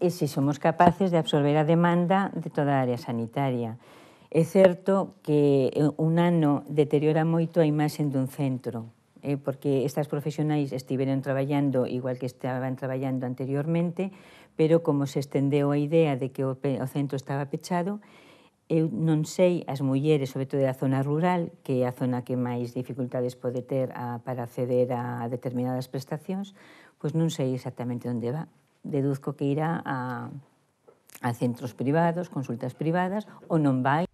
e se somos capaces de absorber a demanda de toda a área sanitaria. É certo que un ano deteriora moito a imaxe dun centro, porque estas profesionais estiveron traballando igual que estaban traballando anteriormente, pero como se estendeu a idea de que o centro estaba pechado, eu non sei, as mulleres, sobre todo da zona rural, que é a zona que máis dificultades pode ter para acceder a determinadas prestacións, pois non sei exactamente onde va. Deduzco que irá a centros privados, consultas privadas, ou non vai